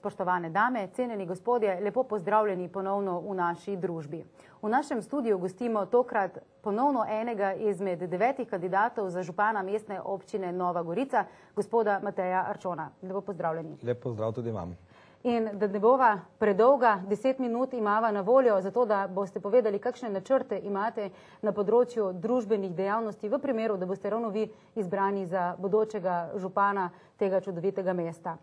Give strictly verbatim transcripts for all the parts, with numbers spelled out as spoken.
Spoštovane dame, cenjeni gospodje, lepo pozdravljeni ponovno v naši družbi. V našem studiu gostimo tokrat ponovno enega izmed devetih kandidatov za župana mestne občine Nova Gorica, gospoda Mateja Arčona. Lepo pozdravljeni. Lep pozdrav tudi vam. In da ne bova predolga, deset minut imava na voljo, zato da boste povedali, kakšne načrte imate na področju družbenih dejavnosti v primeru, da boste ravno vi izbrani za bodočega župana tega čudovitega mesta.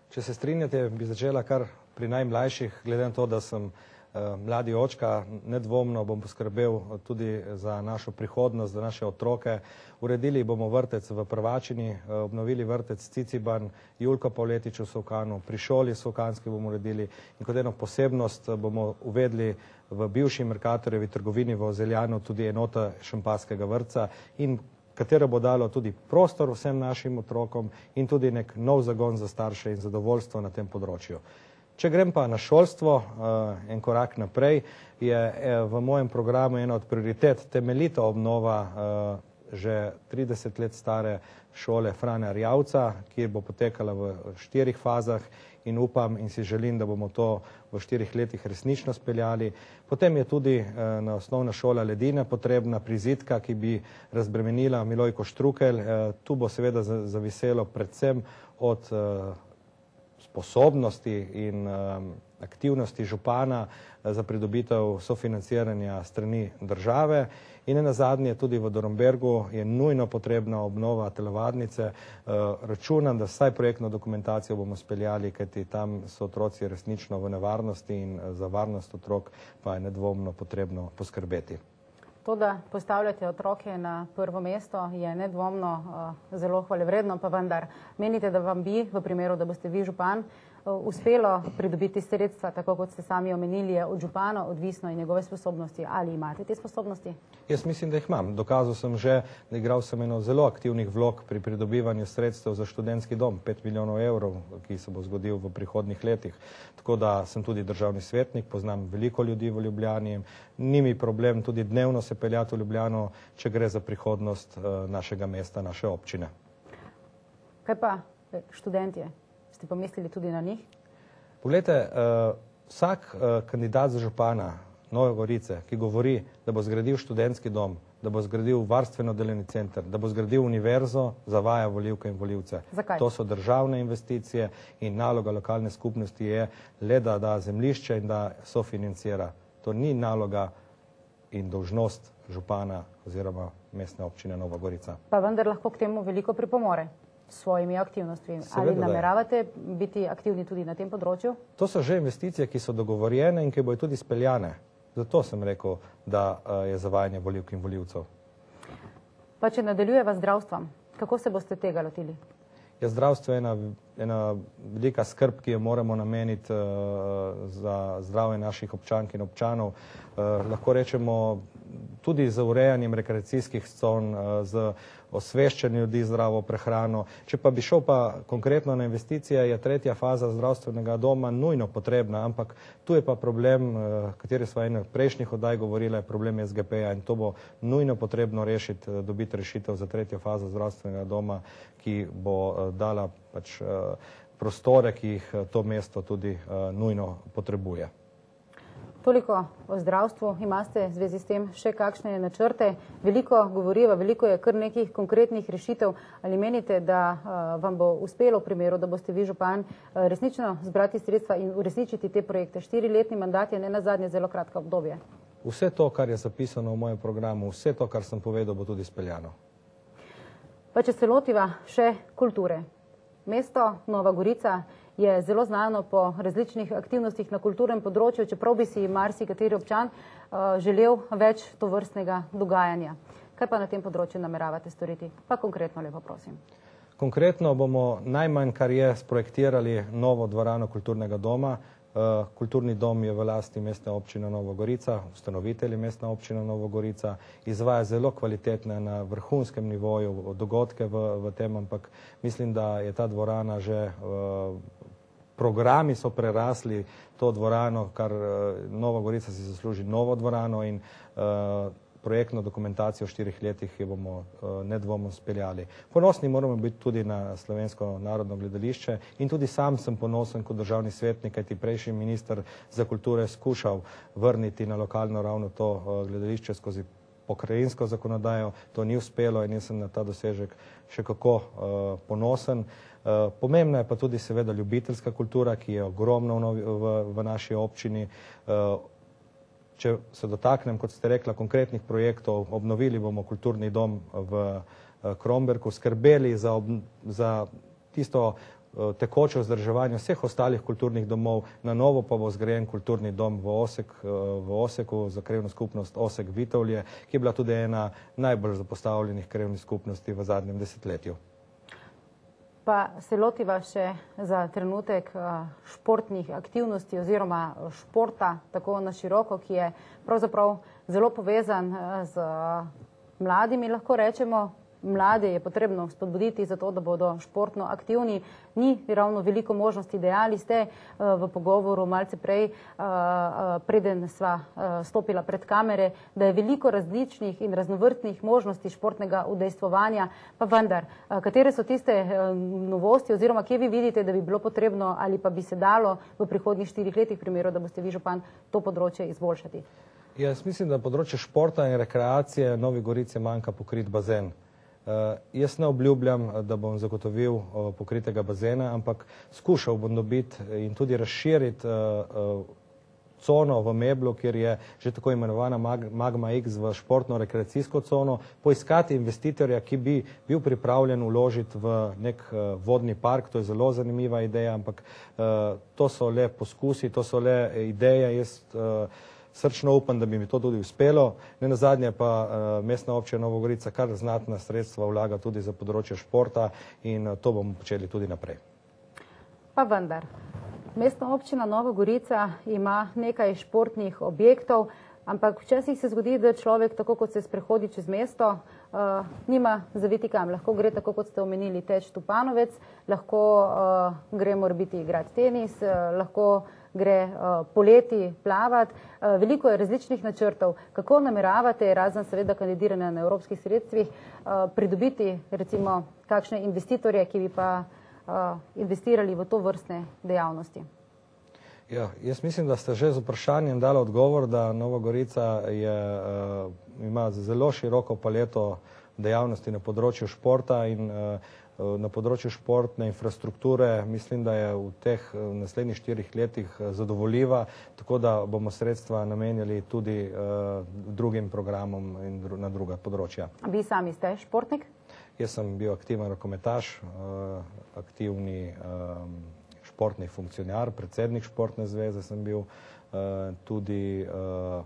Če se strinjate, bi začela kar pri najmlajših, glede na to, da sem uh, mladi očka, nedvomno bom poskrbel tudi za našo prihodnost, za naše otroke. Uredili bomo vrtec v Prvačini, uh, obnovili vrtec Ciciban, Julka Pavletič v Solkanu, pri šoli Solkanski bomo uredili in kot eno posebnost bomo uvedli v bivši Mercatorjevi trgovini v Ozeljanu tudi enota šampanskega vrtca, in katero bo dalo tudi prostor vsem našim otrokom in tudi nek nov zagon za starše in zadovoljstvo na tem področju. Če grem pa na šolstvo, en korak naprej, je v mojem programu ena od prioritet temeljita obnova že trideset let stare šole Frana Erjavca, ki bo potekala v štirih fazah in upam in si želim, da bomo to v štirih letih resnično speljali. Potem je tudi na osnovna šola Ledine potrebna prizidka, ki bi razbremenila Milojko Štrukelj. Tu bo seveda zaviselo predvsem od sposobnosti in aktivnosti župana za pridobitev sofinanciranja strani države. In nenazadnje tudi v Dornbergu je nujno potrebna obnova telovadnice. Računam, da vsaj projektno dokumentacijo bomo speljali, kajti tam so otroci resnično v nevarnosti in za varnost otrok pa je nedvomno potrebno poskrbeti. To, da postavljate otroke na prvo mesto, je nedvomno uh, zelo hvalevredno, pa vendar menite, da vam bi, v primeru, da boste vi župan, uh, uspelo pridobiti sredstva, tako kot ste sami omenili, je od župana odvisno in njegove sposobnosti. Ali imate te sposobnosti? Jaz mislim, da jih imam. Dokazal sem že, da igral sem eno zelo aktivnih vlog pri pridobivanju sredstev za študentski dom, pet milijonov evrov, ki se bo zgodil v prihodnjih letih. Tako da sem tudi državni svetnik, poznam veliko ljudi v Ljubljani, ni mi problem tudi dnevno se peljati v Ljubljano, če gre za prihodnost uh, našega mesta, naše občine. Kaj pa študentje? Ste pomislili tudi na njih? Poglejte, uh, vsak uh, kandidat za župana Nove Gorice, ki govori, da bo zgradil študentski dom, da bo zgradil varstveno-delovni center, da bo zgradil univerzo, zavaja volivke in volivce. Zakaj? To so državne investicije in naloga lokalne skupnosti je le, da da zemljišče in da sofinancira. To ni naloga in dolžnost župana oziroma mestne občine Nova Gorica. Pa vendar lahko k temu veliko pripomore s svojimi aktivnostmi. Seveda, ali nameravate biti aktivni tudi na tem področju? To so že investicije, ki so dogovorjene in ki bojo tudi speljane. Zato sem rekel, da je zavajanje volivk in volivcev. Pa če nadaljujeva zdravstvom, kako se boste tega lotili? Ja, zdravstvo je ena, ena velika skrb, ki jo moramo nameniti uh, za zdravje naših občank in občanov. Uh, lahko rečemo tudi z urejanjem rekreacijskih con, uh, z osveščanjem ljudi zdravo prehrano. Če pa bi šel pa konkretno na investicije, je tretja faza zdravstvenega doma nujno potrebna, ampak tu je pa problem, uh, kateri smo eno prejšnjih oddaj govorili, je problem S G P-ja in to bo nujno potrebno rešiti, uh, dobiti rešitev za tretjo fazo zdravstvenega doma, ki bo uh, dala pač uh, prostore, ki jih uh, to mesto tudi uh, nujno potrebuje. Toliko o zdravstvu. Imate v zvezi s tem še kakšne načrte? Veliko govoriva, veliko je kar nekih konkretnih rešitev. Ali menite, da uh, vam bo uspelo v primeru, da boste vi župan uh, resnično zbrati sredstva in uresničiti te projekte? Štiriletni mandat je ne nazadnje zelo kratko obdobje. Vse to, kar je zapisano v mojem programu, vse to, kar sem povedal, bo tudi speljano. Pa če se lotiva še kulture. Mesto Nova Gorica je zelo znano po različnih aktivnostih na kulturnem področju, čeprav bi si marsikateri občan uh, želel več tovrstnega dogajanja. Kaj pa na tem področju nameravate storiti? Pa konkretno lepo prosim. Konkretno bomo najmanj, kar je, sprojektirali novo dvorano kulturnega doma. Uh, kulturni dom je v lasti mestne občine Nova Gorica, ustanovitelji mestna občina Nova Gorica, izvaja zelo kvalitetne na vrhunskem nivoju dogodke v, v tem, ampak mislim, da je ta dvorana že, uh, programi so prerasli to dvorano, kar uh, Nova Gorica si zasluži novo dvorano in uh, projektno dokumentacijo v štirih letih, ki bomo nedvomno speljali. Ponosni moramo biti tudi na Slovensko narodno gledališče in tudi sam sem ponosen kot državni svetnik, kajti prejšnji minister za kulture skušal vrniti na lokalno ravno to gledališče skozi pokrajinsko zakonodajo. To ni uspelo in jaz sem na ta dosežek še kako ponosen. Pomembna je pa tudi seveda ljubiteljska kultura, ki je ogromna v naši občini. Če se dotaknem, kot ste rekla, konkretnih projektov, obnovili bomo kulturni dom v Kromberku, skrbeli za, za tisto tekoče vzdrževanje vseh ostalih kulturnih domov, na novo pa bo zgrajen kulturni dom v, Osek, v Oseku za krajevno skupnost Osek-Vitovlje, ki je bila tudi ena najbolj zapostavljenih krajevnih skupnosti v zadnjem desetletju. Pa se lotiva še za trenutek športnih aktivnosti oziroma športa tako na široko, ki je pravzaprav zelo povezan z mladimi, lahko rečemo. Mlade je potrebno spodbuditi za to, da bodo športno aktivni. Ni ravno veliko možnosti. Dejali ste v pogovoru malce prej, preden sva stopila pred kamere, da je veliko različnih in raznovrstnih možnosti športnega udejstvovanja. Pa vendar, katere so tiste novosti oziroma kje vi vidite, da bi bilo potrebno ali pa bi se dalo v prihodnjih štirih letih, primeru, da boste vi župan, to področje izboljšati? Jaz mislim, da področje športa in rekreacije Novi Gorici manjka pokrit bazen. Uh, jaz ne obljubljam, da bom zagotovil uh, pokritega bazena, ampak skušal bom dobiti in tudi razširiti uh, uh, cono v Meblu, kjer je že tako imenovana Mag Magma X v športno-rekreacijsko cono, poiskati investitorja, ki bi bil pripravljen uložiti v nek uh, vodni park. To je zelo zanimiva ideja, ampak uh, to so le poskusi, to so le ideje. Jaz uh, Srčno upam, da bi mi to tudi uspelo. Ne nazadnje pa uh, mestna občina Nova Gorica kar znatna sredstva vlaga tudi za področje športa in uh, to bomo počeli tudi naprej. Pa vendar, mestna občina Nova Gorica ima nekaj športnih objektov, ampak včasih se zgodi, da človek, tako kot se sprehodi čez mesto, uh, nima zaviti kam. Lahko gre, tako kot ste omenili, teč Tupanovec, lahko uh, gre morebiti igrati tenis, uh, lahko gre uh, poleti plavati. Uh, veliko je različnih načrtov. Kako nameravate, razen seveda kandidiranja na evropskih sredstvih, uh, pridobiti recimo kakšne investitorje, ki bi pa uh, investirali v to vrstne dejavnosti? Ja, jaz mislim, da ste že z vprašanjem dali odgovor, da Nova Gorica je, uh, ima zelo široko paleto dejavnosti na področju športa in uh, na področju športne infrastrukture. Mislim, da je v teh naslednjih štirih letih zadovoljiva, tako da bomo sredstva namenjali tudi uh, drugim programom in dru na druga področja. Vi sami ste športnik? Jaz sem bil aktiven rokometaš, uh, aktivni um, športni funkcionar, predsednik športne zveze sem bil, uh, tudi uh,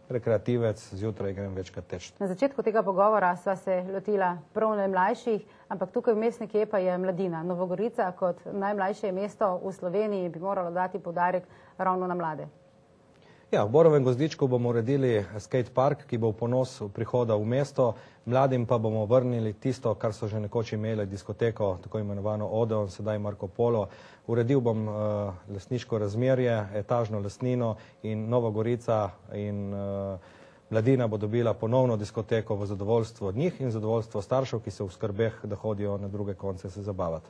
rekreativec, zjutraj grem večkrat teč. Na začetku tega pogovora sva se lotila prav najmlajših, ampak tukaj vmes nekje pa je mladina. Nova Gorica kot najmlajše mesto v Sloveniji bi moralo dati poudarek ravno na mlade. Ja, v Borovem Gozdičku bomo uredili skate park, ki bo v ponos prihoda v mesto. Mladim pa bomo vrnili tisto, kar so že nekoč imeli, diskoteko, tako imenovano Odeon, sedaj Marko Polo. Uredil bom uh, lastniško razmerje, etažno lastnino in Nova Gorica in uh, mladina bo dobila ponovno diskoteko v zadovoljstvo njih in zadovoljstvo staršev, ki so v skrbeh, da hodijo na druge konce se zabavati.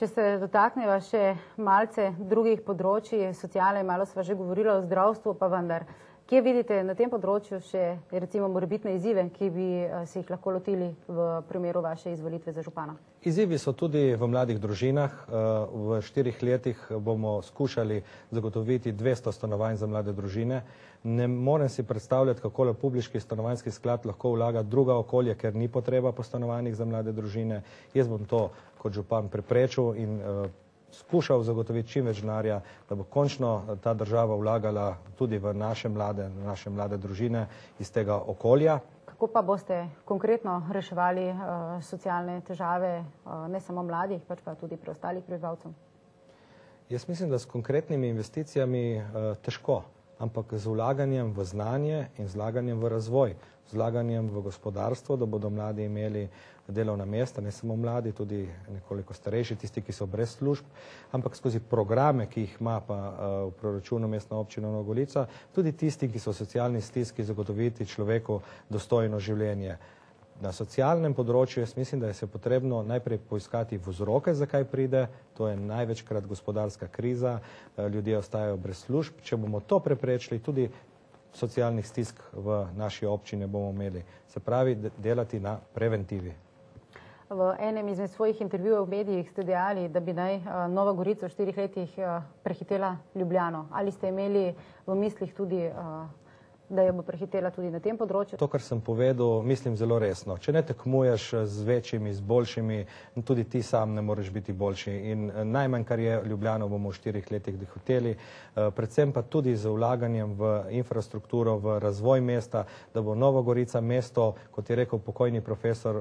Če se dotakneva še malce drugih področji, sociale, malo sva že govorila o zdravstvu, pa vendar, kje vidite na tem področju še recimo morebitne izzive, ki bi se jih lahko lotili v primeru vaše izvolitve za župana? Izzivi so tudi v mladih družinah. V štirih letih bomo skušali zagotoviti dvesto stanovanj za mlade družine. Ne morem si predstavljati, kako le publiški stanovanjski sklad lahko vlaga druga okolje, ker ni potreba po stanovanjih za mlade družine. Jaz bom to kot župan preprečil in uh, skušal zagotoviti čim več denarja, da bo končno ta država vlagala tudi v naše mlade, naše mlade družine iz tega okolja. Kako pa boste konkretno reševali uh, socialne težave uh, ne samo mladih, pač pa tudi preostalih prebivalcev? Jaz mislim, da s konkretnimi investicijami uh, težko. ampak z vlaganjem v znanje in z vlaganjem v razvoj, z vlaganjem v gospodarstvo, da bodo mladi imeli delovna mesta, ne samo mladi, tudi nekoliko starejši, tisti, ki so brez služb, ampak skozi programe, ki jih ima pa v proračunu Mestna občina Nova Gorica, tudi tisti, ki so v socialni stiski, zagotoviti človeku dostojno življenje. Na socialnem področju jaz mislim, da je se potrebno najprej poiskati vzroke, zakaj pride, to je največkrat gospodarska kriza, ljudje ostajajo brez služb. Če bomo to preprečili, tudi socialnih stisk v naši občini bomo imeli. Se pravi, delati na preventivi. V enem izmed svojih intervjujev v medijih ste dejali, da bi naj Nova Gorica v štirih letih prehitela Ljubljano. Ali ste imeli v mislih tudi, da jo bo prehitela tudi na tem področju? To, kar sem povedal, mislim zelo resno. Če ne tekmuješ z večjimi, z boljšimi, tudi ti sam ne moreš biti boljši. In najmanj, kar je Ljubljano, bomo v štirih letih dohiteli, predvsem pa tudi z vlaganjem v infrastrukturo, v razvoj mesta, da bo Nova Gorica mesto, kot je rekel pokojni profesor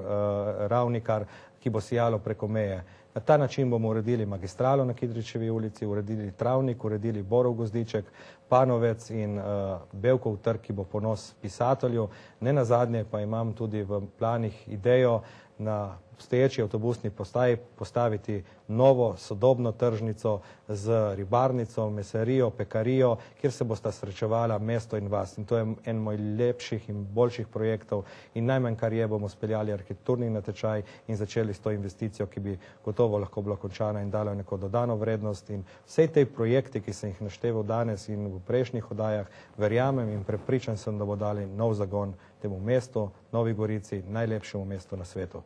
Ravnikar, ki bo sijalo preko meje. Na ta način bomo uredili magistralo na Kidričevi ulici, uredili Travnik, uredili Borov gozdiček, Panovec in uh, Bevkov trg, ki bo ponos pisatelju. Ne nazadnje pa imam tudi v planih idejo na obstoječi avtobusni postaji postaviti novo sodobno tržnico z ribarnico, mesarijo, pekarijo, kjer se bosta srečevala mesto in vas. In to je en moj lepših in boljših projektov in najmanj, kar je, bomo speljali arhitekturni natečaj in začeli s to investicijo, ki bi gotovo lahko bila končana in dala neko dodano vrednost. In vse te projekte, ki sem jih našteval danes in v prejšnjih oddajah, verjamem in prepričan sem, da bo dali nov zagon temu mestu, Novi Gorici, najlepšemu mestu na svetu.